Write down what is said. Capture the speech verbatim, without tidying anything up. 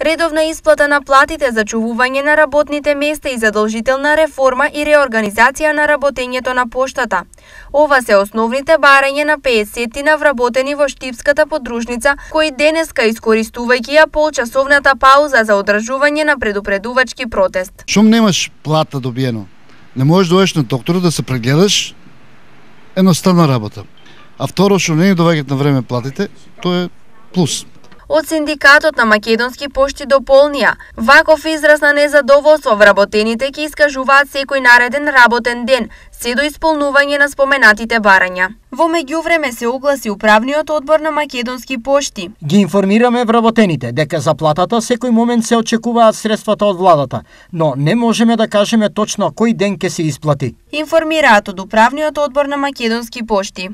Редовна исплата на платите, зачувување на работните места и задолжителна реформа и реорганизација на работењето на поштата. Ова се основните барања на петдесетина вработени во Штипската подружница, кои денеска, искористувајќи ја полчасовната пауза за одржување на предупредувачки протест. Шум немаш плата добиено. Не можеш да дојдеш на докторот да се прегледаш, едноставна работа. А второ, што не доаѓаат на време платите, тоа е плюс. Од Синдикатот на Македонски пошти дополнија, ваков израз на незадоволство вработените ќе искажуваат секој нареден работен ден, се до исполнување на споменатите барања. Во меѓувреме се огласи управниот одбор на Македонски пошти. Ги информираме вработените дека за платата секој момент се очекуваат средствата од владата, но не можеме да кажеме точно кој ден ќе се исплати. Информираат од управниот одбор на Македонски пошти.